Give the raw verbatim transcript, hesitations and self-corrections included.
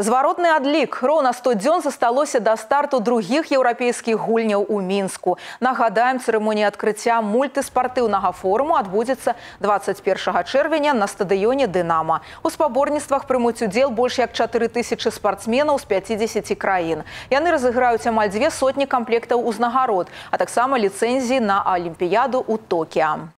Зваротны адлік. Роўна сто дзён засталося да старту другіх еўрапейскіх гульняў у Мінску. Нагадаем, цырымонія адкрыцця мультыспартыўнага форуму адбудзецца дваццаць першага чэрвеня на стадыёне «Дынама». У спаборніцтвах прымуць удзел больш як чатыры тысячы спартсменаў з пяцідзесяці краін. Яны разыграюць амаль дзве сотні камплектаў узнагарод, а таксама ліцэнзіі на Алімпіяду ў Токіа.